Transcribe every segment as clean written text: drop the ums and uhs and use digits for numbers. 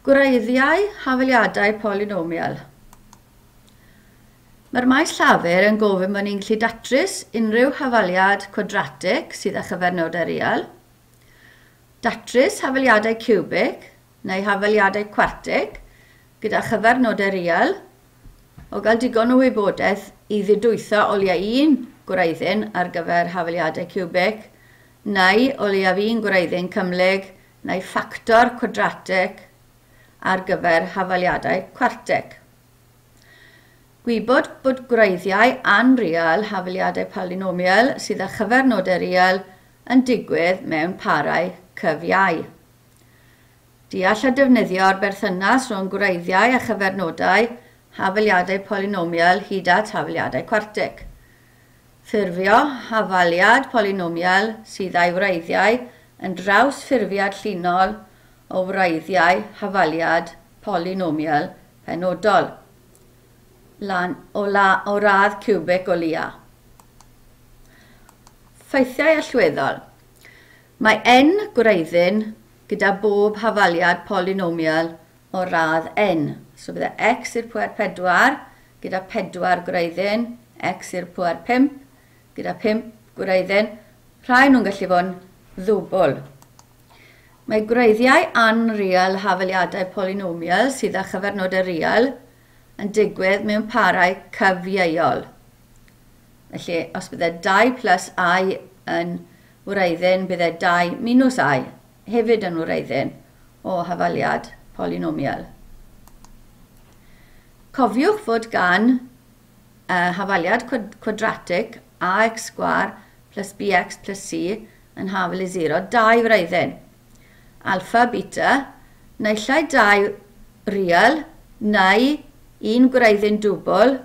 Gwreiddiau hafaliadau polynomial. Mae'r maes llafur yn gofyn bod ni'n gallu datrys unrhyw hafaliad cwadratig sydd â chyfernodau real, datrys hafaliadau ciwbig neu hafaliadau cwartig gyda chyfernodau real, o gael digon o wybodaeth i ddidwytho o leia un gwreiddyn ar gyfer hafaliadau ciwbig, neu o leiaf un gwreiddyn cymhlyg neu ffactor cwadratig ar gyfer hafaliadau cwartig. Gwybod bod gwreiddiau anreal hafaliadau polynomial sydd â chyfernodau real yn digwydd mewn parau cyfiau. Deall a defnyddio'r berthynas rhwng gwreiddiau a chyfernodau hafaliadau polynomial hyd at hafaliadau cwartig. Ffurfio hafaliad polynomial sydd â'i wreiddiau yn drawsffurfiad llinol o wreiddiau hafaliad polynomial penodol, lan o, la, o radd ciwbic o leia. Ffeithiau allweddol. Mae n gwreiddyn gyda bob hafaliad polynomial o radd n. So bydde x i'r pwer 4 gyda 4 gwreiddyn, x i'r pwer 5 gyda 5 gwreiddyn. Rhai nhw'n gallu fod yn ddwbl. Mae gwreiddiau anreal hafaliadau polynomial sydd â chyfernodau real yn digwydd mewn parau cyfieuol. Felly, os bydde 2 plus i yn wreiddyn, bydde 2 minus i hefyd yn wreiddyn o hafaliad polynomial. Cofiwch fod gan hafaliad cwadratig ax sgwâr plus bx plus c yn hafal i 0, dau wreiddyn. Alpha, beta, naill ai dau real, neu un gwreiddyn dwbl,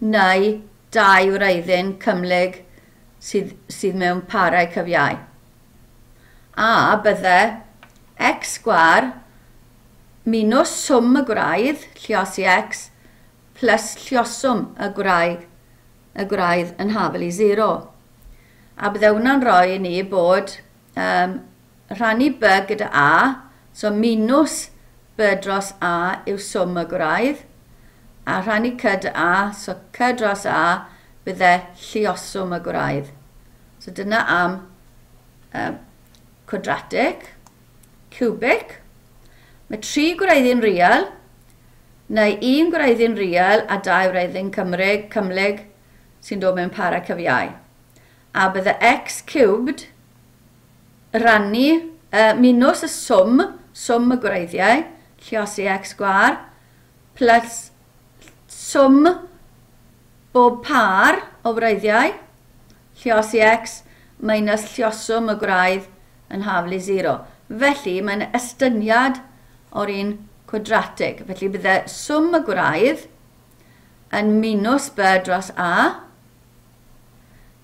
neu dau wreiddyn cymhlyg sydd, sydd mewn parau cyfiau. A bydde x sgwâr minus swm y gwraidd, lliosi x, plus llioswm y gwraig, y gwraidd yn hafal i 0. A bydde hwnna'n rhoi i ni bod rhannu b gyda a, so minus b dros a yw swm y gwraidd, a rhannu c dy a, so c dros a bydde llioswm y gwraidd. So dyna am cwadratig, cubic. Mae tri gwreiddyn real, neu un gwreiddyn real a dau wreiddyn Cymrig, cymhlyg sy'n dod mewn para cyfiau. A bydde x cubed rannu minus y swm, swm y gwreiddiau, lliosi x sgwâr, plus swm bob pâr o wreiddiau, lliosi x minus llioswm y gwraidd yn haflu 0. Felly, mae'n estyniad o'r un cwadratig. Felly, bydde swm y gwraidd yn minus b dros a,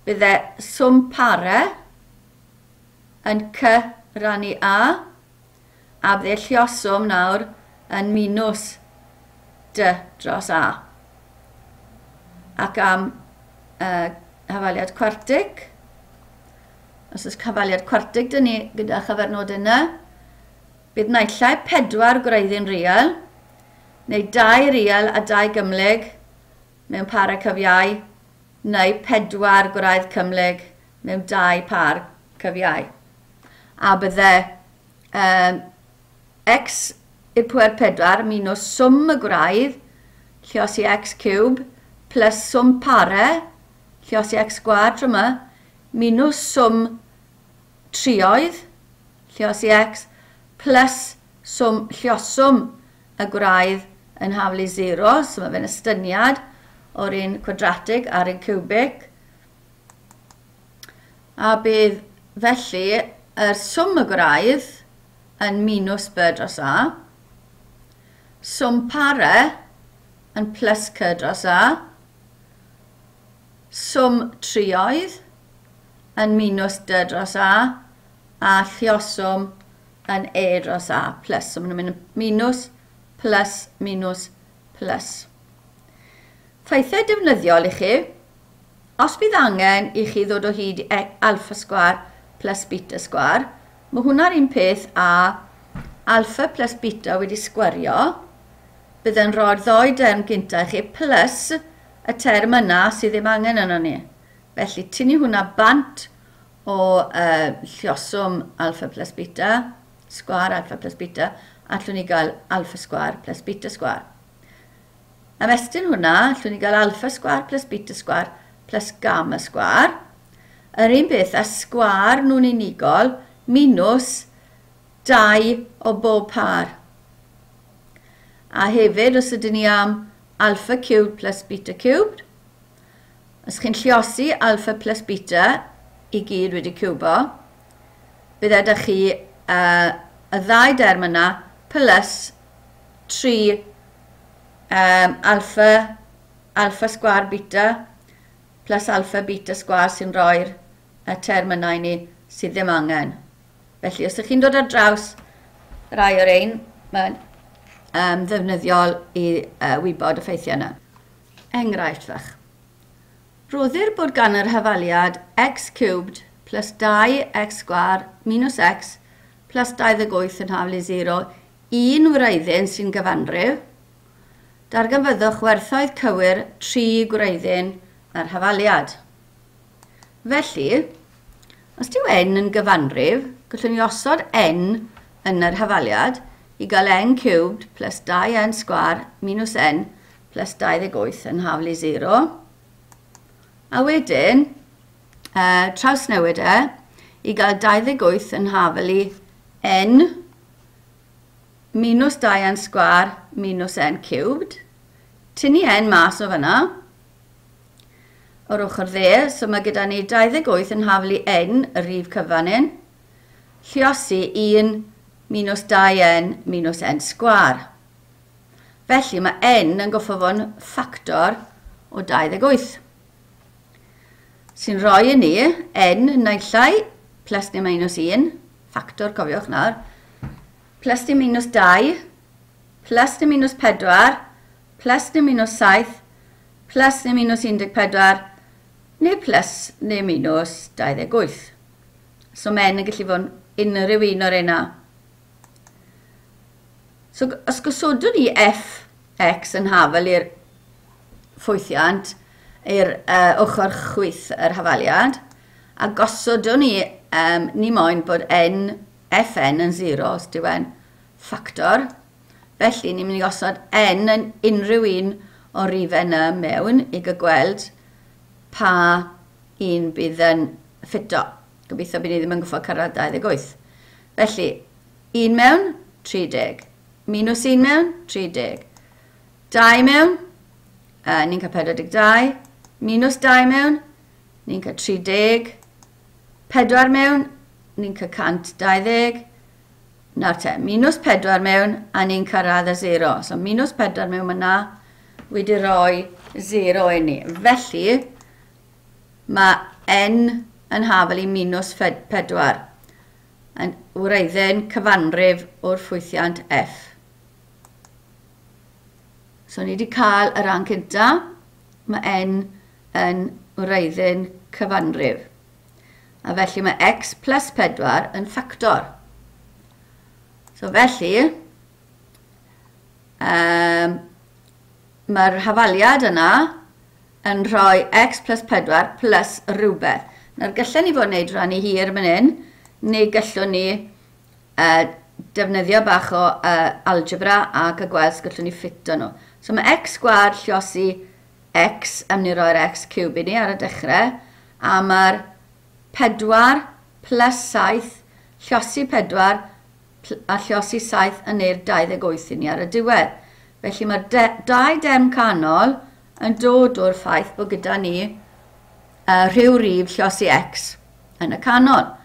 bydde swm pare yn c rannu a, a bydde llioswm nawr yn minus d dros a. Ac am hafaliad cwartig, os oes hafaliad cwartig dyn ni gyda chyfernod yna, bydd naill ai 4 gwreiddyn real, neu 2 real a 2 gymhlyg mewn parau cyfiau, neu 4 gwraidd cymhlyg mewn 2 par cyfiau. A bydde x i'r pwer 4 minus swm y gwraidd, lliosi x cube, plus swm pare, lliosi x sgwâr tro yma, minus swm trioedd, lliosi x, plus swm llioswm y gwraidd yn haflu 0, so mae fe'n estyniad o'r un cwadratig a'r un cubic. A bydd felly yr swm y gwraidd yn minus b dros a, swm pare yn plus c dros a, swm trioedd yn minus d dros a, a llioswm yn e dros a plus. So maen nhw'n mynd minus, plus, minus, plus. Ffeithiau defnyddiol i chi. Os bydd angen i chi ddod o hyd i alpha sgwâr plus beta sgwâr, mae hwnna'r un peth a alpha plus beta wedi sgwario, bydd yn rhoi'r ddoi derm gynta i chi plus y term yna sydd ddim angen yno ni. Felly, tynnu hwnna bant o lluoswm alpha plus beta, sgwar alpha plus beta, allwn ni gael alpha sgwar plus beta sgwar. Ymestyn hwnna, allwn ni gael alpha sgwar plus beta sgwar plus gamma sgwar. Yr un beth a sgwar nhw'n unigol minus 2 o bob par. A hefyd, os ydyn ni am alpha cubed plus beta cubed, os chi'n lluosi alpha plus beta i gyd wedi ciwbo, bydd ydych chi y ddau derm yna plus 3 alpha, alpha sgwar beta plus alpha beta sgwar sy'n rhoi'r y term yna i ni sydd ddim angen. Felly, os ydych chi'n dod ar draws rai o'r ein, mae'n ddefnyddiol i wybod y ffeithiau yna. Enghraifft fach. Rhoddir bod gan yr hafaliad x cubed plus 2x sgwar minus x plus 28 yn haflu 0 un wreiddyn sy'n gyfanrif. Darganfyddwch werthoedd cywir 3 gwreiddyn yr hafaliad. Felly, os dyw n yn gyfanrif, gallwn ni osod n yn yr hafaliad i gael n cubed plus 2n sgwar minus n plus 28 yn haflu 0. A wedyn, trawsnewid e i gael 28 yn haflu n minus 2n sgwar minus n cubed. Tynnu n mas o fyna o'r ochr dde, so mae gyda ni 28 yn haflu n, y rhif cyfan un, lluosi 1 minus 2n minus n sgwar. Felly mae n yn goffo fo'n ffactor o 28. Sy'n rhoi i ni n naill ai plus neu minus 1, ffactor cofiwch nawr, plus neu minus 2, plus neu minus 4, plus neu minus 7, plus neu minus 14, neu plus neu minus 28. So mae n yn gallu fod yn unrhyw un o'r yna. So os gosodwn ni f x yn hafel i'r ffwythiant, i'r ochr chwith yr hafaliad, a gosodwn ni, ni moyn bod n, fn yn 0, os dyw e'n ffactor. Felly ni'n mynd i osod n yn unrhyw un o'r rifau yna mewn i gael gweld pa un bydd yn ffito. Gobeithio bydd ni ddim yn goffo cyrraedd 28. Felly, 1 mewn, 30. Minus 1 mewn, 30. 2 mewn, ni'n cael 42. Minus 2 mewn, ni'n cael 30. 4 mewn, ni'n cael 120. Nawr te, minus 4 mewn, a ni'n cyrraedd y 0. So minus 4 mewn yna wedi rhoi 0 i ni. Felly, mae n yn hafel i minus 4 yn wreiddyn cyfanrif o'r ffwythiant f. So ni wedi cael y rhan cynta, mae n yn wreiddyn cyfanrif. A felly mae x plus 4 yn ffactor. So felly, mae'r hafaliad yna yn rhoi x plus 4 plus rhywbeth. Nawr gallen ni fod yn gwneud rhannu hir fan hyn, neu gallwn ni defnyddio bach o algebra ac y gweld os gallwn ni ffito nhw. So mae x sgwâr lluosi x am ni roi'r x cube i ni ar y dechrau, a mae'r 4 plus 7 lluosi 4 a lluosi 7 yn neu'r 28 i ni ar y diwedd. Felly mae'r dau derm canol yn dod o'r ffaith bod gyda ni rhyw rif lluosi x yn y canol.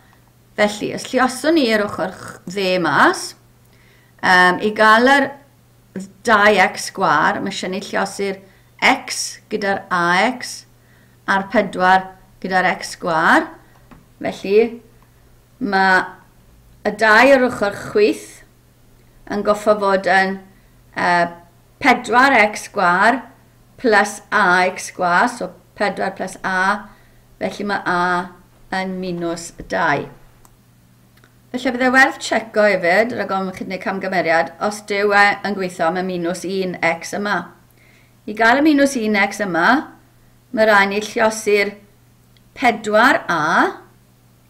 Felly, os lluoswn ni i'r ochr dde mas, i gael yr 2x sgwâr, mae eisiau ni lluosi'r x gyda'r ax a'r 4 gyda'r x sgwâr. Felly, mae y 2 ar ochr chwith yn goffo fod yn 4x sgwâr plus ax sgwâr, so 4 plus a, felly mae a yn minus 2. Felly bydde werth checo hefyd, rhag ofn chi'n gwneud camgymeriad, os dyw e yn gweithio am y minus 1x yma. I gael y minus 1x yma, mae rhaid ni lliosi'r 4a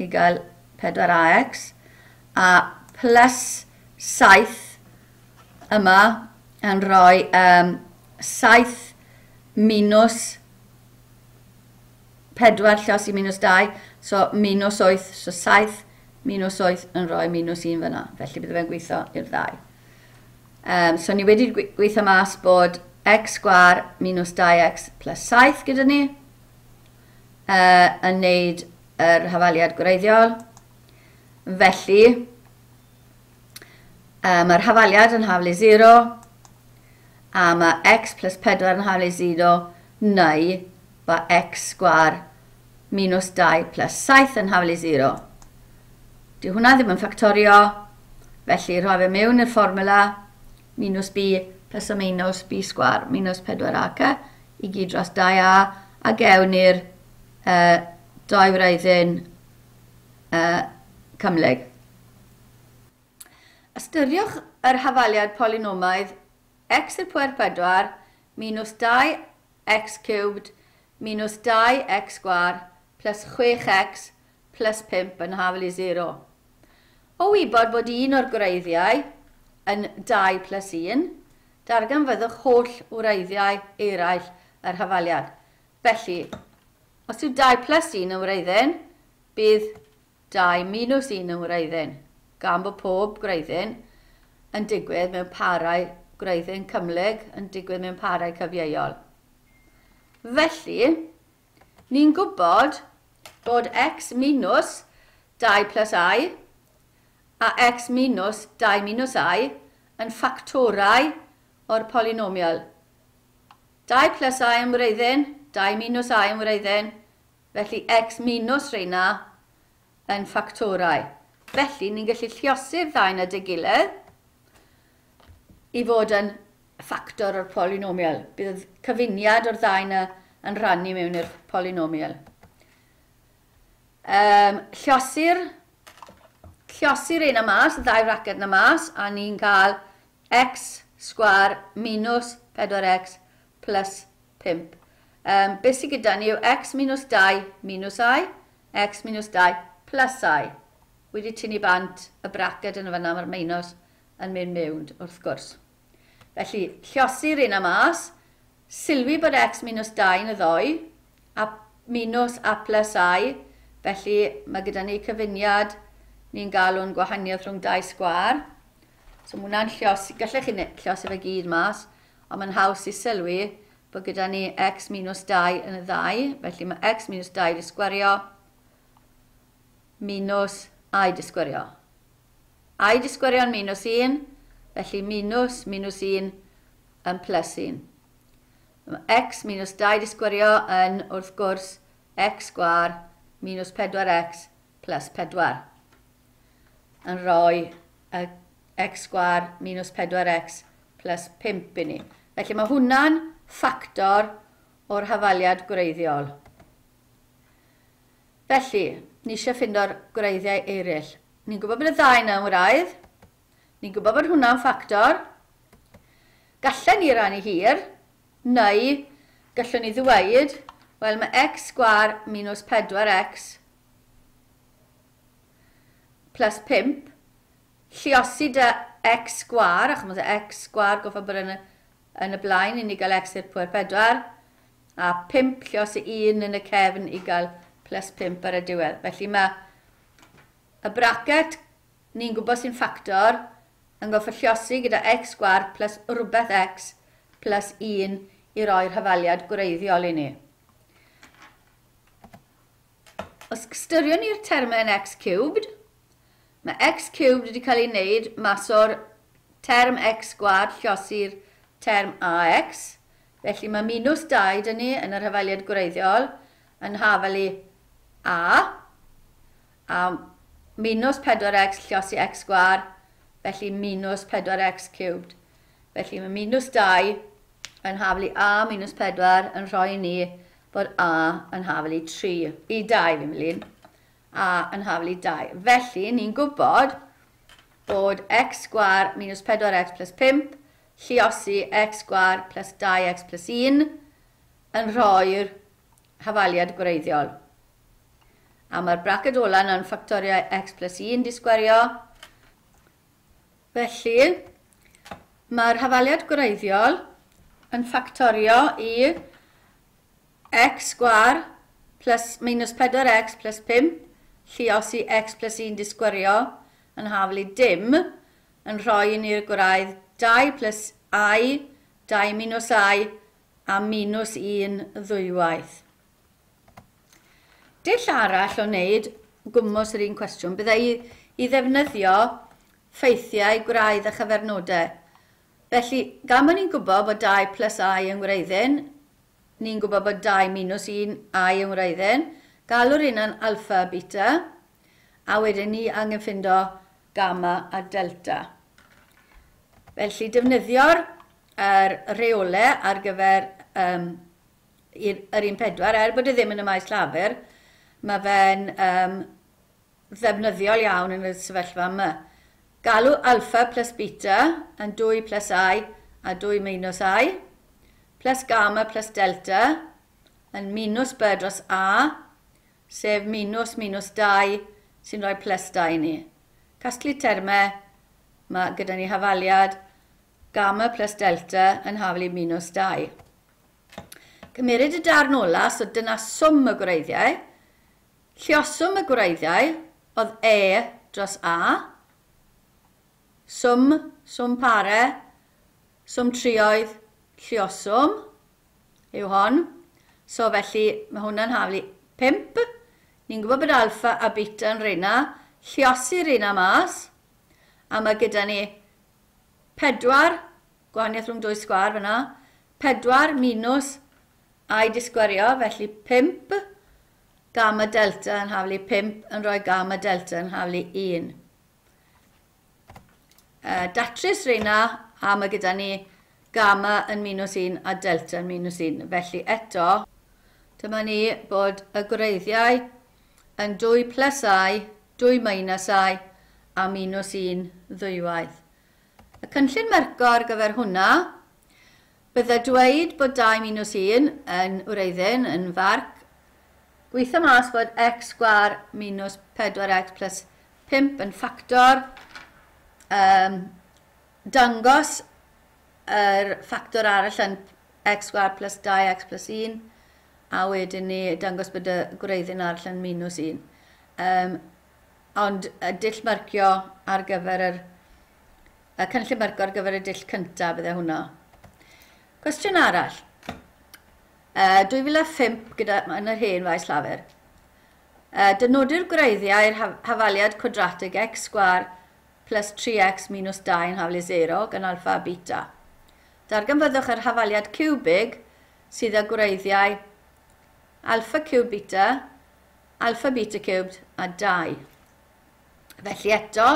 i gael 4ax a plus 7 yma yn rhoi 7 minus 4 lliosi minus 2, so minus 8, so 7 minus 8 yn rhoi minus 1 fyna. Felly bydde fe'n gweithio i'r ddau. So ni wedi gweithio mas bod x sgwâr minus 2x plus 7 gyda ni yn neud yr hafaliad gwreiddiol. Felly, mae'r hafaliad yn haflu 0 a mae x plus 4 yn haflu 0 neu mae x sgwâr minus 2 plus 7 yn haflu 0. Dyw hwnna ddim yn ffactorio, felly rhoi fe mewn i'r fformula minus b plus o minus b sgwâr minus 4ac i gyd dros 2a a gewn ni'r doi wreiddyn cymhlyg. Ystyriwch yr hafaliad polynomaidd x i'r pwer 4 minus 2x cubed minus 2x sgwâr plus 6x plus 5 yn hafal i 0. O wybod bod un o'r gwreiddiau yn 2 plus 1, darganfyddwch holl wreiddiau eraill yr hafaliad. Felly, os yw 2 plus 1 yn wreiddyn, bydd 2 minus 1 yn wreiddyn, gan bod pob gwreiddyn yn digwydd mewn parau gwreiddyn cymhlyg yn digwydd mewn parau cyfieuol. Felly, ni'n gwybod bod x minus 2 plus i a x minus 2 minus i yn ffactorau o'r polynomial. 2 plus i yn wreiddyn, 2 minus i yn wreiddyn, felly x minus reina yn ffactorau. Felly, ni'n gallu lliosi'r ddau na dy gilydd i fod yn ffactor o'r polynomial. Bydd cyfuniad o'r ddau na yn rhannu mewn i'r polynomial. Lliosi'r un yma mas, y ddau raced yna mas, a ni'n cael x sgwâr minus 4x plus 5. Beth sydd gyda ni yw x minus 2 minus i, x minus 2 plus i. Wedi tynnu bant y braced yn y fan'na, mae'r minus yn mynd mewn wrth gwrs. Felly, lliosi'r un yma mas, sylwi bod x minus 2 yn y ddoi, a minus a plus i, felly mae gyda ni cyfuniad ni'n galw'n gwahaniaeth rhwng 2 sgwâr. So mae hwnna'n lliosi, gallech chi lliosi fe gyd mas, ond mae'n haws i sylwi bod gyda ni x minus 2 yn y ddau, felly mae x minus 2 wedi sgwario minus i wedi sgwario. I wedi sgwario'n minus 1, felly minus minus 1 yn plus 1. Mae x minus 2 wedi sgwario yn, wrth gwrs, x sgwâr minus 4x plus 4. Yn rhoi x sgwâr minus 4x plus 5 i ni. Felly mae hwnna'n ffactor o'r hafaliad gwreiddiol. Felly, ni eisiau ffindo'r gwreiddiau eraill. Ni'n gwybod bod y ddau yna yn wraidd. Ni'n gwybod bod hwnna'n ffactor. Gallen ni rannu hir, neu gallwn ni ddweud, wel mae x sgwâr minus 4x plus 5, lliosi dy x sgwâr, achos mae x sgwâr goffa bod yn y blaen i ni gael x i'r pwer 4, a 5 lliosi 1 yn y cefn i gael plus 5 ar y diwedd. Felly mae y bracet ni'n gwybod sy'n ffactor yn goffa lliosi gyda x sgwâr plus rhywbeth x plus 1 i roi'r hafaliad gwreiddiol i ni. Os ystyriwn ni'r termau yn x cubed, mae x cubed wedi cael ei wneud mas o'r term x sgwâr lliosi'r term ax, felly mae minus 2 dyn ni yn yr hafaliad gwreiddiol yn hafalu a minus 4x lliosi x sgwâr, felly minus 4x cubed. Felly mae minus 2 yn hafalu a minus 4 yn rhoi ni bod a yn hafalu 3, i 2 fi'n mynd. a yn haflu 2. Felly, ni'n gwybod bod x sgwar minus 4x plus 5 lliosi x sgwar plus 2x plus 1 yn rhoi'r hafaliad gwreiddiol. A mae'r braced ola yn ffactoriau x plus 1 di sgwerio. Felly, mae'r hafaliad gwreiddiol yn ffactorio i x sgwar plus minus 4x plus 5 lliosi x plus 1 di sgwerio yn haflu dim yn rhoi ni'r gwraidd 2 plus i, 2 minus i a minus 1 ddwywaith. Dull arall o wneud gwmws yr un cwestiwn byddai i ddefnyddio ffeithiau gwraidd a chyfernodau. Felly, gan bod ni'n gwybod bod 2 plus i yn wreiddyn, ni'n gwybod bod 2 minus 1 i yn wreiddyn, galw'r un yn alpha a beta, a wedyn ni angen ffindo gamma a delta. Felly, defnyddio'r rheolau ar gyfer yr un pedwar, er bod e ddim yn y maes llafur, mae fe'n ddefnyddiol iawn yn y sefyllfa yma. Galw alpha plus beta yn 2 plus i a 2 minus i, plus gamma plus delta yn minus b dros a, sef minus minus 2 sy'n rhoi plus 2 i ni. Casglu termau, mae gyda ni hafaliad gamma plus delta yn haflu minus 2. Cymeryd y darn ola, so dyna swm y gwreiddiau. Lluoswm y gwreiddiau oedd e dros a, swm, swm pare, swm trioedd, lluoswm yw hon. So felly mae hwnna'n haflu 5. Ni'n gwybod bod alpha a beta yn reina. Lluosi'r reina mas. A mae gyda ni 4, gwahaniaeth rhwng 2 sgwar fyna, 4 minus i di sgwario, felly 5 gamma delta yn haflu 5 yn rhoi gamma delta yn haflu 1. Datrys reina, a mae gyda ni gamma yn minus 1 a delta yn minus 1. Felly eto, dyma ni bod y gwreiddiau yn 2 plus i, 2 minus i a minus 1 ddwywaith. Y cynllun merco ar gyfer hwnna, bydde dweud bod 2 minus 1 yn wreiddyn, yn farc, gweithio mas bod x sgwar minus 4x plus 5 yn ffactor, dangos yr ffactor arall yn x sgwar plus 2x plus 1, a wedyn ni dangos bod y gwreiddyn arall yn minus 1. Ond y dull marcio ar gyfer y cynllun marcio ar gyfer y dull cyntaf bydde hwnna. Cwestiwn arall. 2005 gyda, yn yr hen faes llafur. Dynodi'r gwreiddiau i'r hafaliad cwadratig x sgwar plus 3x minus 2 yn haflu 0 gan alpha a beta. Darganfyddwch yr hafaliad ciwbig sydd â gwreiddiau alpha cube beta, alpha beta cubed a 2. Felly eto,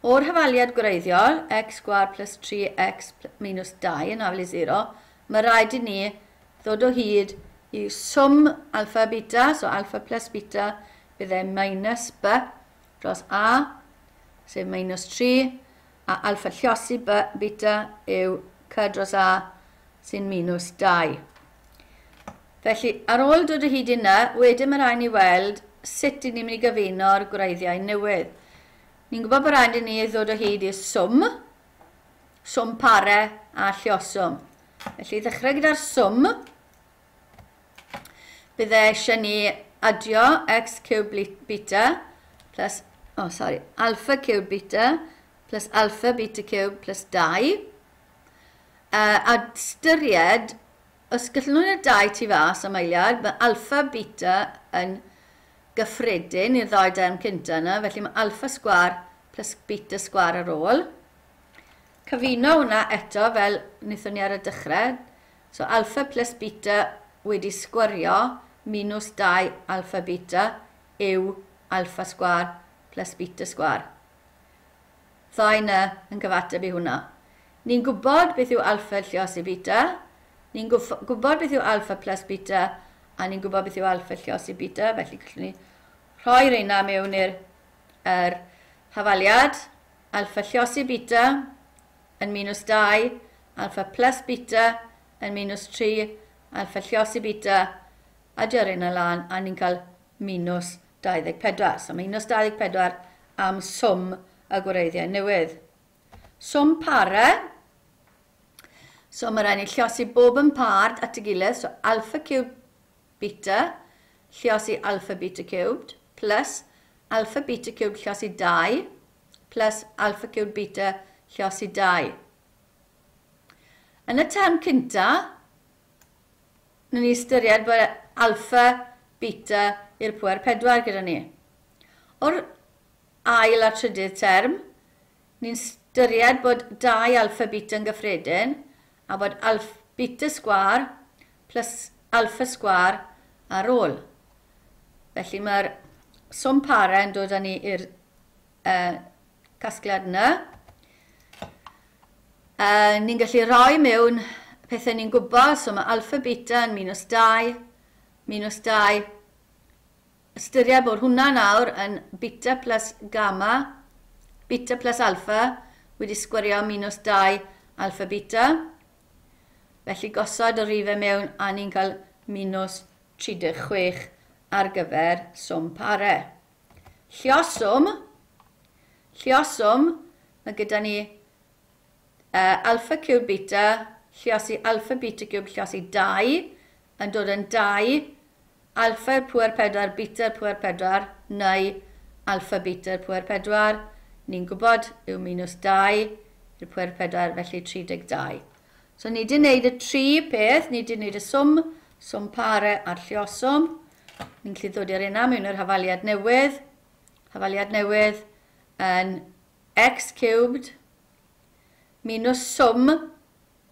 o'r hafaliad gwreiddiol, x sgwar plus 3x minus 2 yn haflu 0, mae rhaid i ni ddod o hyd i swm alpha beta, so alpha plus beta bydd e minus b dros a, sef minus 3, a alpha lliosi b beta yw c dros a sy'n minus 2. Felly, ar ôl dod o hyd i yna, wedyn mae rhaid ni weld sut i ni'n mynd i gyfuno'r gwreiddiau newydd. Ni'n gwybod bod rhaid i ni ddod o hyd i'r swm, swm pare a lluoswm. Felly, ddechrau gyda'r swm, bydde eisiau ni adio x cube beta plus, alpha cube beta plus alpha beta cube plus 2. A ystyried, os gallwn nhw'n 2 tu fas am eiliad, mae alpha beta yn gyffredin i'r ddau derm cynta yna, felly mae alpha sgwar plus beta sgwar ar ôl. Cyfuno hwnna eto fel wnaethon ni ar y dechrau. So alpha plus beta wedi sgwario minus 2 alpha beta yw alpha sgwar plus beta sgwar. Ddau yna yn gyfateb i hwnna. Ni'n gwybod beth yw alpha lliosi beta, ni'n gwybod beth yw alpha plus beta, a ni'n gwybod beth yw alpha lliosi beta, felly gallwn ni Rhoi reina mewn i'r hafaliad. Alfa lliosi beta yn minus 2, alfa plus beta yn minus 3, alfa lliosi beta, adio reina lan, a ni'n cael minus 24. So minus 24 am swm y gwreiddiau newydd. Swm pare, so mae rhaid ni lliosi bob yn par at y gilydd, so alpha cubed beta, lliosi alpha beta cubed, plus alpha beta cubed lliosi 2, plus alpha cubed beta lliosi 2. Yn y term cynta, ni'n ystyried bod alpha beta i'r pwer 4 gyda ni. O'r ail a trydydd term, ni'n ystyried bod 2 alpha beta yn gyffredin a bod alpha beta sgwar plus alpha sgwar ar ôl. Felly mae'r swm pare yn dod â ni i'r casgliad yna. Ni'n gallu rhoi mewn pethau ni'n gwybod, so mae alpha beta yn minus 2, minus 2. Ystyried bod hwnna nawr yn beta plus gamma, beta plus alpha, wedi sgwario minus 2 alpha beta. Felly gosod y rifau mewn a ni'n cael minus 36 ar gyfer swm pare. Llioswm, mae gyda ni alpha cubed beta, lliosi alpha beta cubed lliosi 2, yn dod yn 2, alpha i'r pwer 4, beta i'r pwer 4, neu alpha beta i'r pwer 4, ni'n gwybod yw minus 2 i'r pwer 4, felly 32. So ni wedi gwneud y tri peth, ni wedi gwneud y swm, swm pare a'r llioswm. Ni'n gallu ddod i'r yna mewn yr hafaliad newydd. Hafaliad newydd yn x cubed minus swm,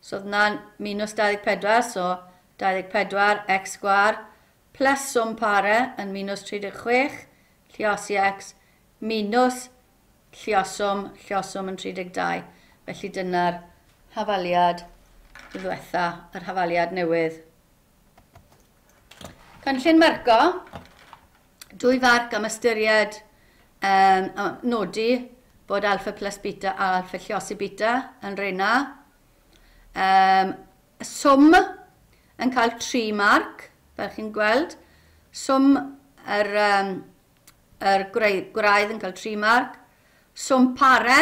so oedd hwnna'n minus 24, so 24 x sgwar, plus swm pare yn minus 36, lliosi x, minus llioswm, llioswm yn 32. Felly dyna'r hafaliad ddiwetha, yr hafaliad newydd. Cynllun marco, 2 farc am ystyried nodi bod alpha plus beta a alpha lliosi beta yn reina. Swm yn cael 3 marc, fel chi'n gweld. Swm yr gwraidd yn cael 3 marc. Swm pare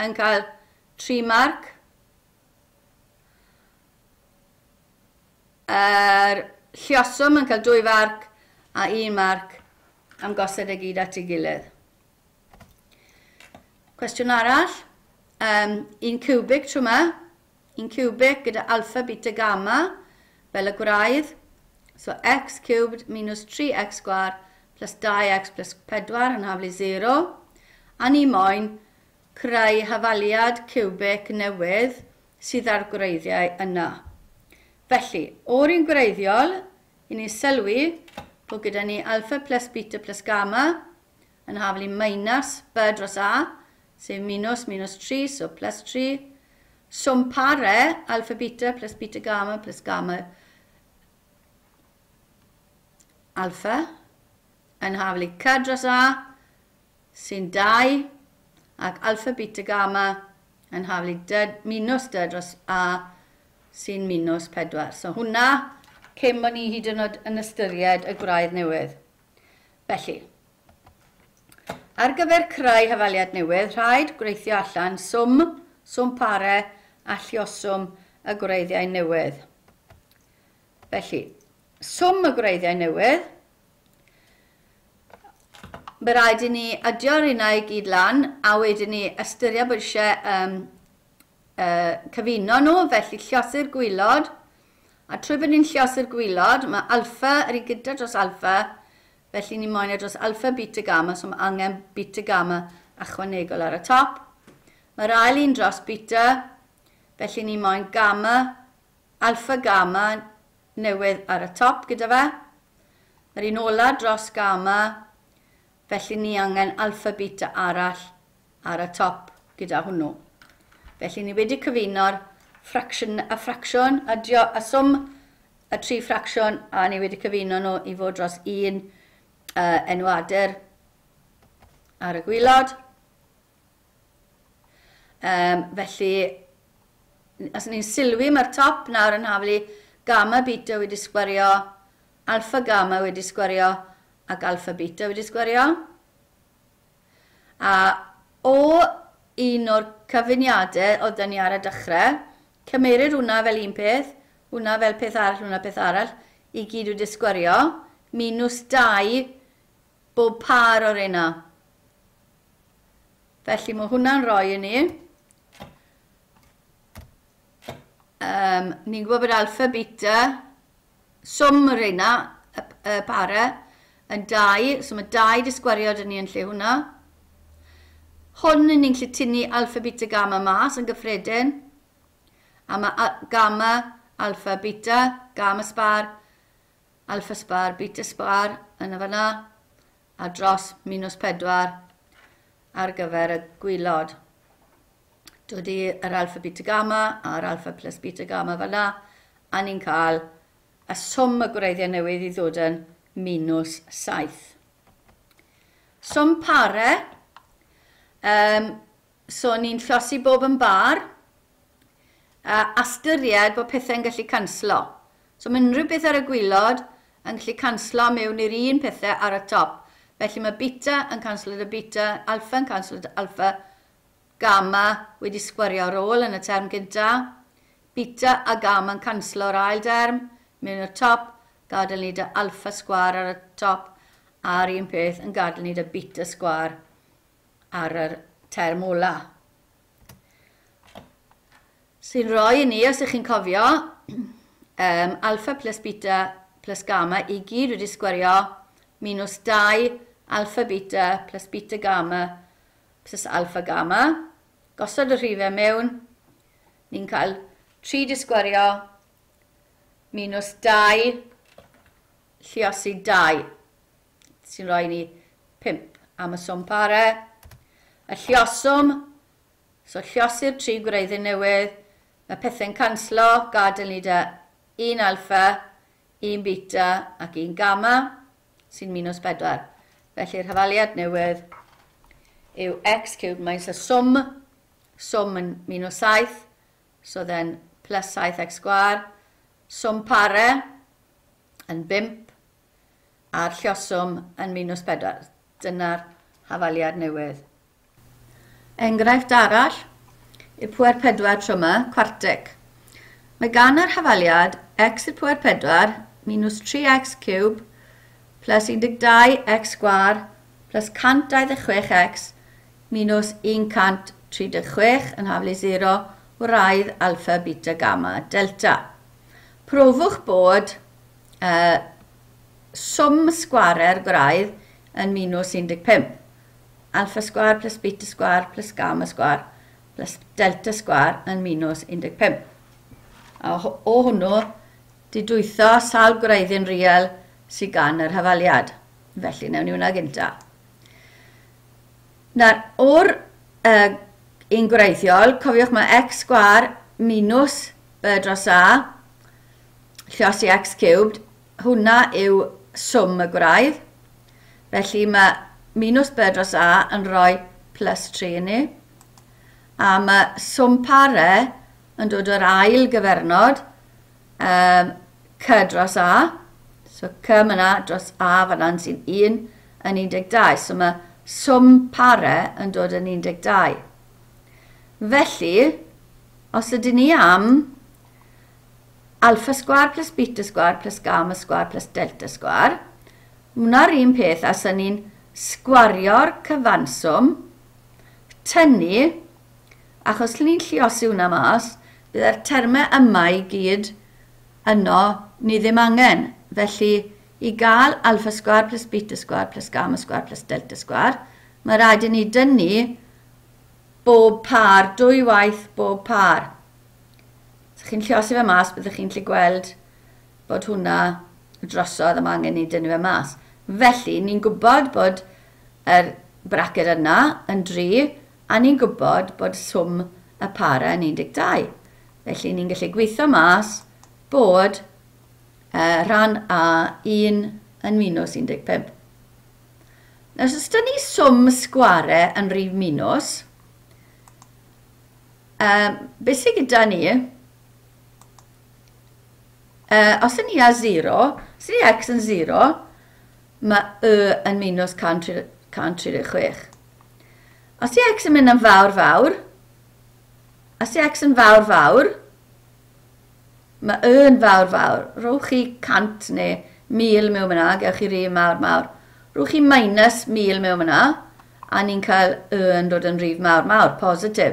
yn cael 3 marc. Yr llioswm yn cael 2 farc a 1 marc am gosod y gyd at ei gilydd. Cwestiwn arall, un cubic trwy yma, un cubic gyda alpha, beta, gamma fel y gwraidd. So x cubed minus 3x sgwar plus 2x plus 4 yn haflu 0. A ni moyn creu hafaliad cubic newydd sydd ar gwreiddiau yna. Felly, o'r un gwreiddiol, i ni'n sylwi bod gyda ni alpha plus beta plus gamma yn haflu minus b dros a, sef minus minus 3, so plus 3. Swm pare, alpha beta plus beta gamma plus gamma alpha, yn haflu c dros a, sy'n 2, ac alpha beta gamma yn haflu d, minus d dros a, sy'n minus 4. So hwnna, cyn bod ni hyd yn oed yn ystyried y gwraidd newydd. Felly, ar gyfer creu hafaliad newydd, rhaid gweithio allan swm, swm pare a llioswm y gwreiddiau newydd. Felly, swm y gwreiddiau newydd, mae rhaid i ni adio'r hynna i gyd lan, a wedyn ni ystyried bod eisiau cyfuno nhw, felly lliosi'r gwylod, a trwy bod ni'n lliosi'r gwylod, mae alpha yr un gyda dros alpha, felly ni moyn e dros alpha, beta, gamma, so mae angen beta, gamma ychwanegol ar y top. Mae'r ail un dros beta, felly ni moyn gamma, alpha, gamma newydd ar y top gyda fe. Mae'r un ola dros gamma, felly ni angen alpha, beta arall ar y top gyda hwnnw. Felly ni wedi cyfuno'r ffracsiwn a ffracsiwn, adio a swm y tri ffracsiwn, a ni wedi cyfuno nhw i fod dros 1 Enwadur ar y gwylod. Felly, os ni'n sylwi, mae'r top nawr yn haflu gamma beta wedi sgwario, alpha gamma wedi sgwario ac alpha beta wedi sgwario. A o un o'r cyfuniadau oedd dyn ni ar y dechrau, cymerir hwnna fel un peth, hwnna fel peth arall, hwnna peth arall, i gyd wedi sgwario, minus 2 bob par o'r reina. Felly mae hwnna'n rhoi i ni. Ni'n gwybod bod alpha, beta, swm y reina, y pare, yn 2, so mae 2 di sgwario dyn ni yn lle hwnna. Hwn ni'n gallu tynnu alpha, beta, gamma mas yn gyffredin. A mae gamma, alpha, beta, gamma sbar, alpha sbar, beta sbar yn y fanna, a dros minus 4 ar gyfer y gwylod. Dod i'r alpha, beta, gamma a'r alpha plus beta, gamma fanna, a ni'n cael y swm y gwreiddiau newydd i ddod yn minus 7. Swm pare, so ni'n llosi bob yn bar, a ystyried bod pethau'n gallu canslo. So mae unrhyw beth ar y gwylod yn gallu canslo mewn i'r un pethau ar y top. Felly mae beta yn canslo dy beta, alpha yn canslo dy alpha, gamma wedi sgwario ar ôl yn y term gynta, beta a gamma yn canslo'r ail derm mewn i'r top, gadael ni dy alpha sgwar ar y top, a'r un peth yn gadael ni dy beta sgwar ar yr term ola. Sy'n rhoi i ni, os ych chi'n cofio, alpha plus beta plus gamma i gyd wedi sgwario minus 2 alpha beta plus beta gamma plus alpha gamma. Gosod y rhifau mewn, ni'n cael 3 di sgwario minus 2 lliosi 2, sy'n rhoi ni 5 am y swm pare. Y llioswm, so lliosi'r 3 gwreiddyn newydd, mae pethau'n canslo, gadael ni dy 1 alpha, 1 beta ac 1 gamma, sy'n minus 4. Felly'r hafaliad newydd yw x cubed minus y swm, swm yn minus 7, so then plus 7x sgwar, swm pare yn 5, a'r llioswm yn minus 4. Dyna'r hafaliad newydd. Enghraifft arall yw pwer 4 tro yma, cwartig. Mae gan yr hafaliad x i'r pwer 4 minus 3x cube plus 12x sgwar plus 126x minus 136 yn haflu 0 wraidd alpha, beta, gamma, delta. Profwch bod swm sgware'r gwraidd yn minus 15. Alpha sgwar plus beta sgwar plus gamma sgwar plus delta sgwar yn minus 15. A o hwnnw, didwytho sawl gwreiddyn real sydd gan yr hafaliad. Felly, newn ni hwnna gynta. Nawr, o'r un gwreiddiol, cofiwch mae x sgwar minus b dros a, lliosi x cubed, hwnna yw swm y gwraidd. Felly mae minus b dros a yn rhoi plus 3 i ni. A mae swm pare yn dod o'r ail gyfernod, c dros a. So c myna dros a fan'na sy'n 1 yn 12. So mae swm pare yn dod yn 12. Felly, os ydyn ni am alpha sgwar plus beta sgwar plus gamma sgwar plus delta sgwar, hwnna'r un peth as ydyn ni'n sgwario'r cyfanswm, tynnu, achos lle ni'n lliosi hwnna mas, bydde'r termau yma i gyd yno ni ddim angen. Felly, i gael alpha sgwar plus beta sgwar plus gamma sgwar plus delta sgwar, mae rhaid i ni dynnu bob par, dwy waith bob par. Os chi'n lliosi fe mas, byddwch chi'n gallu gweld bod hwnna drosodd a mae angen ni dynnu fe mas. Felly, ni'n gwybod bod yr braced yna yn 3, a ni'n gwybod bod swm y para yn 12. Felly, ni'n gallu gweithio mas bod rhan A 1 yn minus 15. Nawr, os da ni swm sgware yn rhif minus, beth sydd gyda ni, os ydyn ni â 0, os ydy x yn 0, mae y yn minus 136. Os ydy x yn mynd yn fawr fawr, os ydy x yn fawr fawr, mae y yn fawr fawr. Rhowch chi 100 neu 1000 mewn fyna, gewch chi rif mawr mawr. Rhowch chi minus 1000 mewn fyna, a ni'n cael y yn dod yn rif mawr mawr, positif.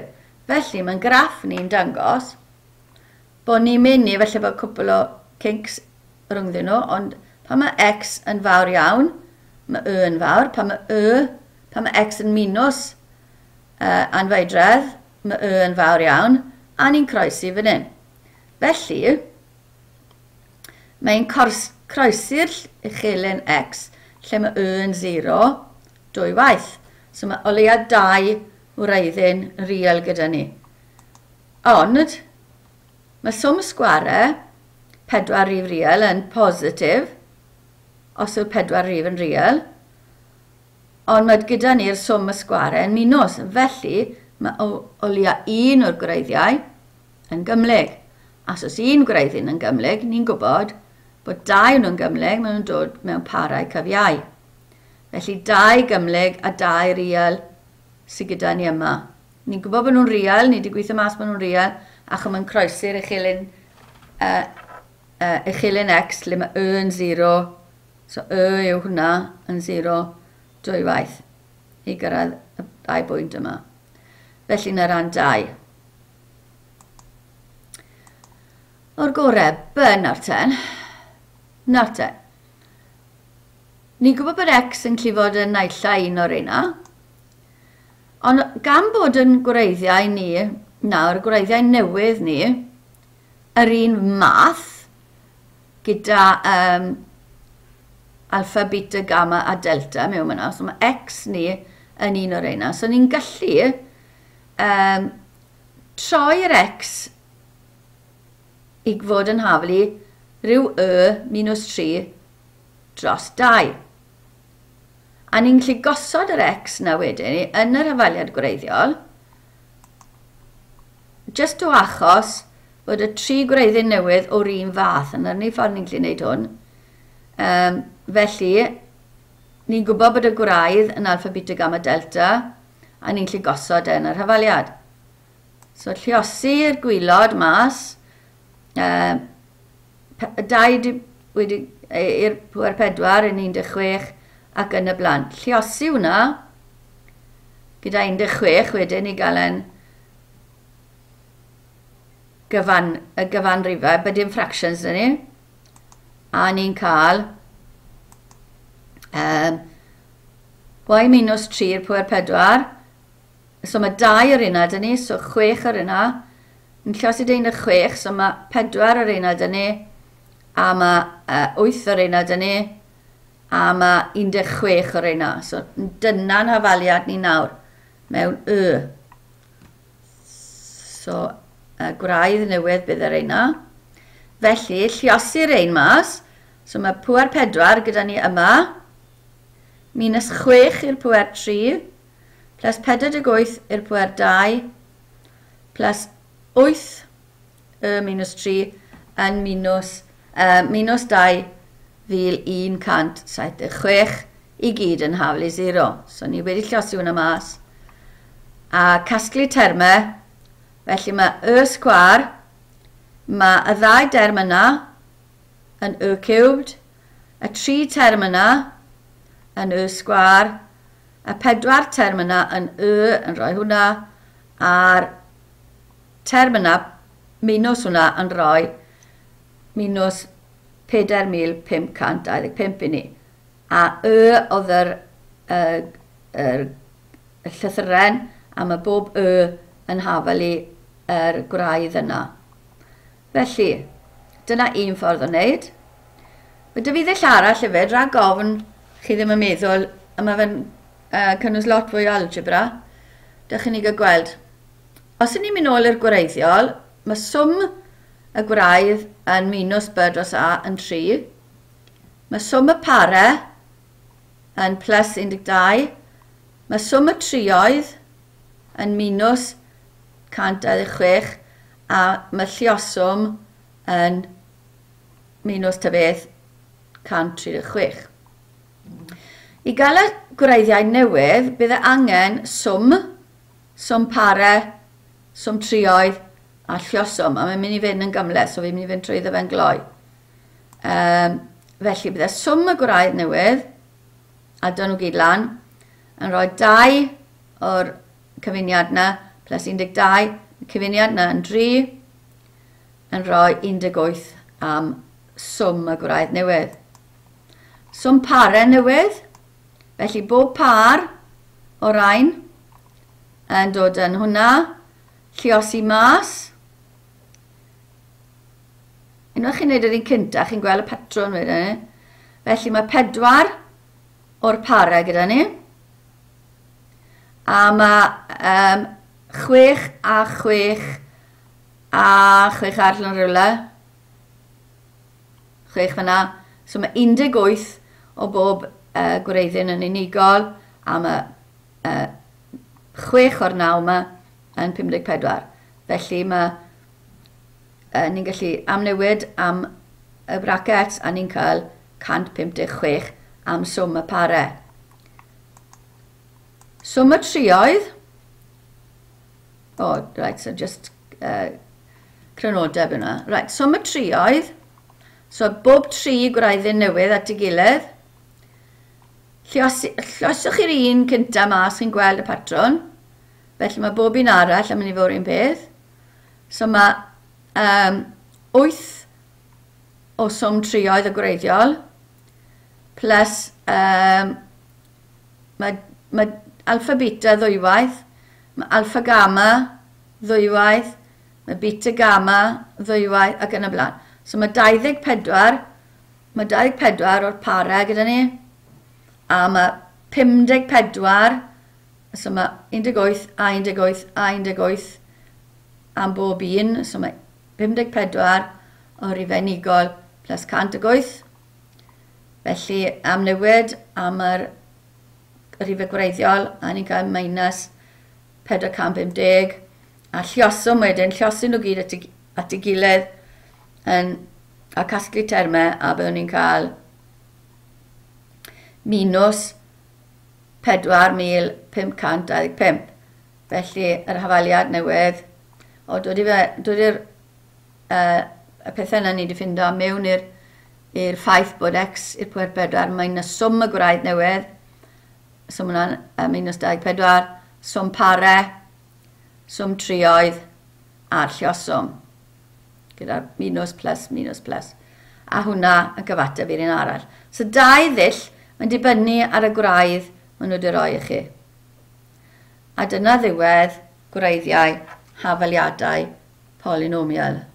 Felly mae'n graff ni'n dangos bod ni'n mynd i, felly bod cwpl o kinks rhyngddyn nhw, ond pan mae x yn fawr iawn, mae y yn fawr. Pan mae y, pan mae x yn minus anfeidredd, mae y yn fawr iawn, a ni'n croesi fan hyn. Felly, mae'n croesi'r uchelyn x lle mae y yn 0 dwy waith. So mae o leia 2 wreiddyn real gyda ni. Ond, mae swm sgware 4 rif real yn positif, os yw'r 4 rif yn real, ond mae gyda ni'r swm y sgware yn minus. Felly, mae o leia un o'r gwreiddiau yn gymhlyg. A os oes un gwreiddyn yn gymhlyg, ni'n gwybod bod 2 nhw'n gymhlyg, maen nhw'n dod mewn parau cyfiau. Felly 2 gymhlyg a 2 real sydd gyda ni yma. Ni'n gwybod bod nhw'n real, ni wedi gweithio mas bod nhw'n real, achos mae'n croesi'r uchelyn, uchelyn x lle mae y yn 0. So y yw hwnna yn 0 dwy waith i gyrraedd y 2 bwynt yma. Felly na ran 2. O'r gorau, B nawr ten. Nawr ten. Ni'n gwybod bod x yn gallu fod yn naill ai un o'r reina. Ond gan bod yn gwreiddiau ni, nawr, gwreiddiau newydd ni, yr un math gyda alpha, beta, gamma a delta mewn yna. So mae x ni yn un o'r reina. So ni'n gallu troi'r x i fod yn haflu rhyw y minus 3 dros 2. A ni'n gallu gosod yr x na wedyn yn yr hafaliad gwreiddiol, jyst o achos bod y 3 gwreiddyn newydd o'r un fath. Yna'r unig ffordd ni'n gallu gwneud hwn. Felly, ni'n gwybod bod y gwraidd yn alpha, beta, gamma, delta, a ni'n gallu gosod e yn yr hafaliad. So, lluosi'r gwylod mas, 2 wedi i'r pwer 4 yn 16 ac yn y blaen. Lluosi hwnna gyda 16 wedyn i gael yn y gyfanrifau, but dim fractions dyn ni. A ni'n cael y minus 3 i'r pwer 4. So mae 2 o'r unad dyn ni, so 6 o'r unad. Yn lluosi 16, so mae 4 o'r unad dyn ni, a mae 8 o'r unad dyn ni, a mae 16 o'r unad. So dyna'n hafaliad ni nawr mewn y. So gwraidd newydd bydd yr unad. Felly, lluosi'r ein mas. So mae pwer 4 gyda ni yma, minus 6 i'r pwer 3, plus 48 i'r pwer 2, plus 8 y minus 3 yn minus 2,176 i gyd yn haflu 0. So ni wedi lluosi hwnna mas. A casglu termau, felly mae y sgwâr, mae y ddau derm yna yn y cubed, y 3 term yna yn y sgwâr, y 4 term yna yn y yn rhoi hwnna, a'r term yna minus hwnna yn rhoi minus 4,525 i ni. A y oedd yr llythyren, a mae bob y yn hafal i yr gwraidd yna. Felly, dyna un ffordd o wneud. Mae dy fi ddull arall hefyd, rhag ofn chi ddim yn meddwl, a mae fe'n cynnwys lot fwy o algebra, dych chi'n ei gael gweld. Os ydyn ni'n mynd nôl i'r gwreiddiol, mae swm y gwraidd yn minus b dros a yn 3. Mae swm y pare yn plus 12. Mae swm y trioedd yn minus 126 a mae lluoswm yn minus ta beth 136. I gael y gwreiddiau newydd, bydd e angen swm, swm pare, swm trioedd a lluoswm. A mae'n mynd i fynd yn gymhleth, so fi'n mynd i fynd trwyddo fe'n gloi. Felly bydde swm y gwraidd newydd, a dyn nhw gyd lan, yn rhoi 2 o'r cyfuniad na, plus 12, y cyfuniad na yn 3, yn rhoi 18 am swm y gwraidd newydd. Swm pare newydd, felly bob par o rain yn dod yn hwnna, lluosi mas. Unwaith chi'n neud yr un cynta, chi'n gweld y patrwn wedyn. Felly mae 4 o'r parau gyda ni. A mae 6 a 6 a 6 arall yn rhywle. 6 fyna. So mae 18 o bob gwreiddyn yn unigol, a mae 6 o'r 9 yma yn 54. Felly mae ni'n gallu amnewid am y brackets a ni'n cael 156 am swm y pare. Swm y trioedd. Oh, right, so just crynodeb yna. Right, swm y trioedd. So bob 3 gwreiddyn newydd at ei gilydd. Lluoswch chi'r un cynta mas, chi'n gweld y patrwn. Felly mae bob un arall yn mynd i fod un peth. So mae 8 o swm trioedd y gwreiddiol, plus mae alpha beta ddwywaith, mae alpha gamma ddwywaith, mae beta gamma ddwywaith ac yn y blaen. So mae 24, mae 24 o'r parau gyda ni, a mae 54, so mae 18 a 18 a 18 am bob un, so mae 54 o rifau unigol plus 108. Felly am newid am yr rifau gwreiddiol, a ni'n cael minus 450, a lluoswm wedyn, lluosi nhw gyd at ei gilydd a casglu termau, a byddwn ni'n cael minus 4,525. Felly yr hafaliad newydd, o dod i'r y pethau yna ni wedi ffindo mewn i'r ffaith bod x i'r pwer 4 minus swm y gwraidd newydd, so mae hwnna'n minus 24, swm pare, swm trioedd a'r lluoswm, gyda'r minus plus, minus plus. A hwnna yn cyfateb i'r un arall. So dau ddull, mae'n dibynnu ar y gwraidd maen nhw wedi rhoi i chi. A dyna ddiwedd gwreiddiau hafaliadau polynomial.